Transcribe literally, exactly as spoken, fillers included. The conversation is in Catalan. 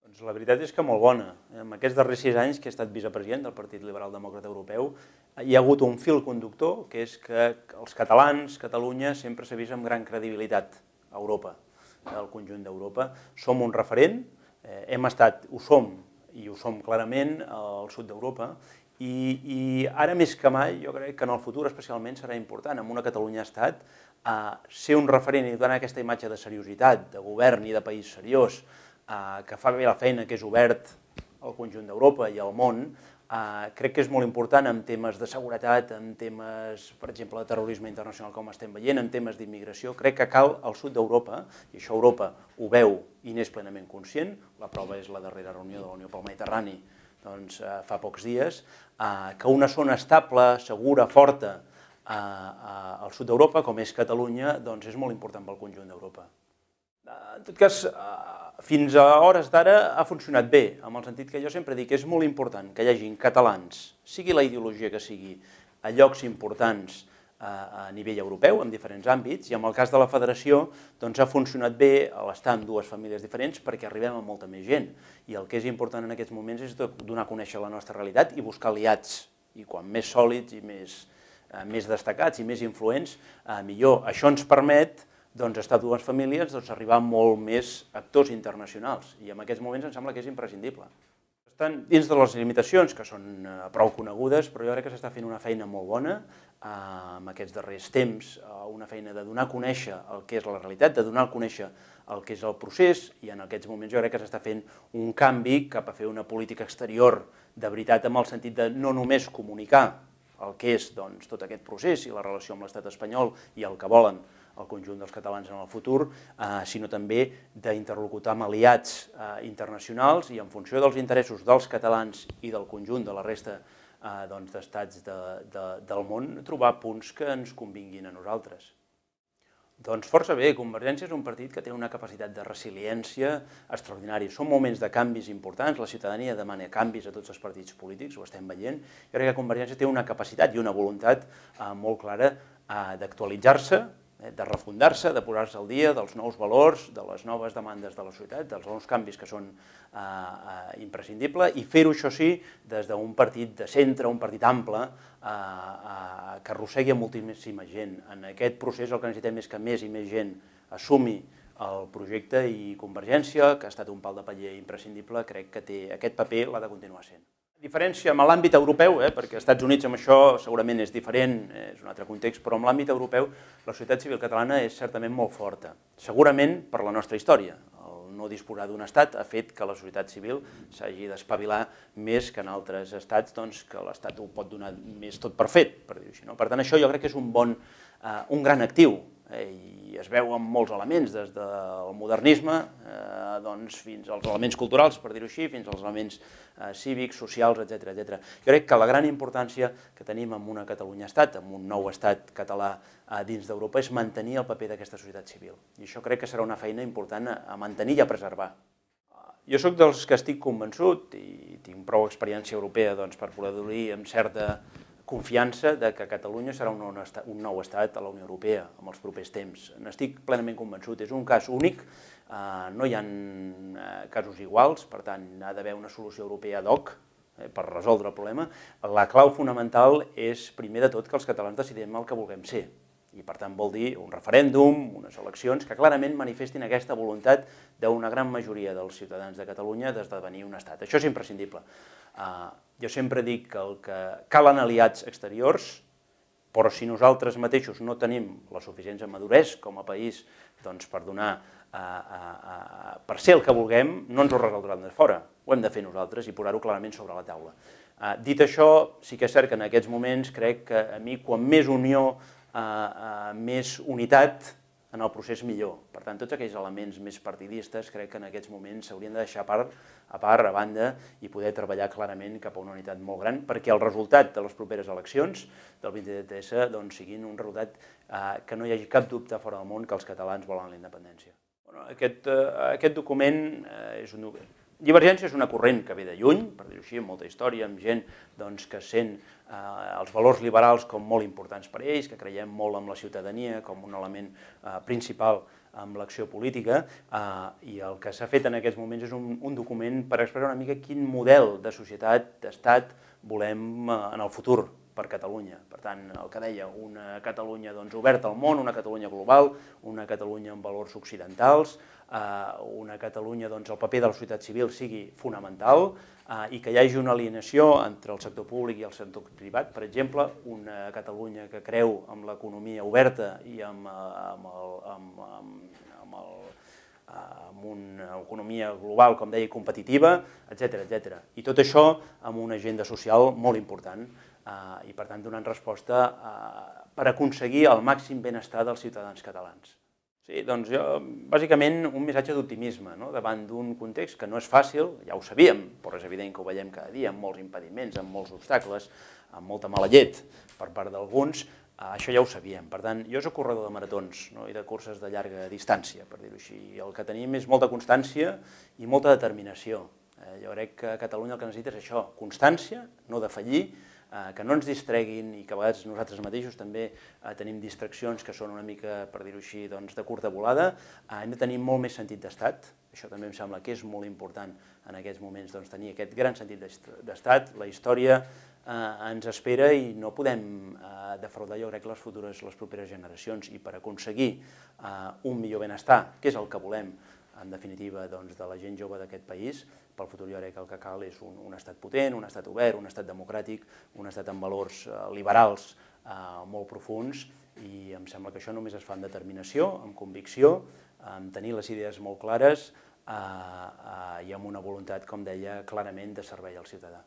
Doncs la veritat és que molt bona. En aquests darrers sis anys que he estat vicepresident del Partit Liberal Demòcrata Europeu, hi ha hagut un fil conductor, que és que els catalans, Catalunya, sempre s'ha vist amb gran credibilitat a Europa, al conjunt d'Europa. Som un referent, hem estat, ho som, i ho som clarament, al sud d'Europa, i, i ara més que mai, jo crec que en el futur especialment serà important, amb una Catalunya-Estat, ser un referent i donar aquesta imatge de seriositat, de govern i de país seriós, que fa bé la feina, que és obert al conjunt d'Europa i al món, crec que és molt important en temes de seguretat, en temes, per exemple, de terrorisme internacional, com estem veient, en temes d'immigració. Crec que cal al sud d'Europa, i això Europa ho veu i n'és plenament conscient, la prova és la darrera reunió de la Unió pel Mediterrani fa pocs dies, que una zona estable, segura, forta al sud d'Europa, com és Catalunya, és molt important pel conjunt d'Europa. En tot cas, fins a hores d'ara ha funcionat bé, en el sentit que jo sempre dic que és molt important que hi hagin catalans, sigui la ideologia que sigui, a llocs importants a nivell europeu, en diferents àmbits, i en el cas de la federació ha funcionat bé l'estar en dues famílies diferents perquè arribem a molta més gent. I el que és important en aquests moments és donar a conèixer la nostra realitat i buscar aliats. I quan més sòlids i més destacats i més influents, millor. Això ens permet estar a dues famílies, arribar a molt més actors internacionals. I en aquests moments em sembla que és imprescindible. Estan dins de les limitacions, que són prou conegudes, però jo crec que s'està fent una feina molt bona en aquests darrers temps, una feina de donar a conèixer el que és la realitat, de donar a conèixer el que és el procés, i en aquests moments jo crec que s'està fent un canvi cap a fer una política exterior de veritat, amb el sentit de no només comunicar el que és tot aquest procés i la relació amb l'estat espanyol i el que volen el conjunt dels catalans en el futur, sinó també d'interlocutar amb aliats internacionals i en funció dels interessos dels catalans i del conjunt de la resta d'estats del món, trobar punts que ens convinguin a nosaltres. Doncs força bé, Convergència és un partit que té una capacitat de resiliència extraordinària. Són moments de canvis importants, la ciutadania demana canvis a tots els partits polítics, ho estem veient. Jo crec que Convergència té una capacitat i una voluntat molt clara d'actualitzar-se, de refundar-se, de posar-se al dia dels nous valors, de les noves demandes de la societat, dels nous canvis que són imprescindibles, i fer-ho, això sí, des d'un partit de centre, un partit ample, que arrossegui a moltíssima gent. En aquest procés el que necessitem és que més i més gent assumi el projecte, i Convergència, que ha estat un pal de paller imprescindible, crec que té aquest paper, l'ha de continuar sent. A diferència amb l'àmbit europeu, perquè als Estats Units amb això segurament és diferent, és un altre context, però amb l'àmbit europeu la societat civil catalana és certament molt forta, segurament per la nostra història. El no disposar d'un estat ha fet que la societat civil s'hagi d'espavilar més que en altres estats, que l'estat ho pot donar més tot per fet, per dir-ho així. Per tant, això jo crec que és un bon, un gran actiu, i es veu en molts elements, des del modernisme fins als elements culturals, per dir-ho així, fins als elements cívics, socials, etcètera. Jo crec que la gran importància que tenim en una Catalunya-estat, en un nou estat català dins d'Europa, és mantenir el paper d'aquesta societat civil. I això crec que serà una feina important a mantenir i a preservar. Jo soc dels que estic convençut, i tinc prou experiència europea per poder dir amb certa confiança que Catalunya serà un nou estat a la Unió Europea en els propers temps. N'estic plenament convençut. És un cas únic, no hi ha casos iguals, per tant, ha d'haver una solució europea ad hoc per resoldre el problema. La clau fonamental és, primer de tot, que els catalans decidim el que vulguem ser. I, per tant, vol dir un referèndum, unes eleccions que clarament manifestin aquesta voluntat d'una gran majoria dels ciutadans de Catalunya d'esdevenir un estat. Això és imprescindible. Jo sempre dic que calen aliats exteriors, però si nosaltres mateixos no tenim la suficient maduresa com a país per donar, per ser el que vulguem, no ens ho resoldran de fora. Ho hem de fer nosaltres i posar-ho clarament sobre la taula. Dit això, sí que és cert que en aquests moments crec que a mi, quan més unió, més unitat en el procés, millor. Per tant, tots aquells elements més partidistes crec que en aquests moments s'haurien de deixar a part, a banda, i poder treballar clarament cap a una unitat molt gran, perquè el resultat de les properes eleccions del vint-i-set essa siguin un resultat que no hi hagi cap dubte fora del món que els catalans volen la independència. Aquest document és un document... Divergència és una corrent que ve de lluny, per dir-ho així, amb molta història, amb gent que sent els valors liberals com molt importants per a ells, que creiem molt en la ciutadania com un element principal amb l'acció política, eh, i el que s'ha fet en aquests moments és un, un document per expressar una mica quin model de societat, d'estat, volem eh, en el futur per Catalunya. Per tant, el que deia, una Catalunya doncs, oberta al món, una Catalunya global, una Catalunya amb valors occidentals, eh, una Catalunya doncs, el paper de la societat civil sigui fonamental, eh, i que hi hagi una alineació entre el sector públic i el sector privat. Per exemple, una Catalunya que creu en l'economia oberta i amb, amb, el, amb, amb, amb, el, amb una economia global, com deia, competitiva, etcètera, etcètera. I tot això amb una agenda social molt important, Uh, i per tant donant resposta uh, per aconseguir el màxim benestar dels ciutadans catalans. Sí, doncs jo, bàsicament un missatge d'optimisme, no? Davant d'un context que no és fàcil, ja ho sabíem, però és evident que ho veiem cada dia, amb molts impediments, amb molts obstacles, amb molta mala llet per part d'alguns, uh, això ja ho sabíem. Per tant, jo soc corredor de maratons, no? I de curses de llarga distància, per dir-ho així. El que tenim és molta constància i molta determinació. Eh, jo crec que Catalunya el que necessita és això, constància, no defallir, que no ens distreguin i que a vegades nosaltres mateixos també tenim distraccions que són una mica, per dir-ho així, de curta volada. Hem de tenir molt més sentit d'estat, això també em sembla que és molt important en aquests moments, tenir aquest gran sentit d'estat. La història ens espera i no podem defraudar, jo crec, les futures, les properes generacions, i per aconseguir un millor benestar, que és el que volem, en definitiva, de la gent jove d'aquest país, pel futur jo crec que el que cal és un estat potent, un estat obert, un estat democràtic, un estat amb valors liberals molt profuns, i em sembla que això només es fa amb determinació, amb convicció, amb tenir les idees molt clares i amb una voluntat, com deia, clarament de servei al ciutadà.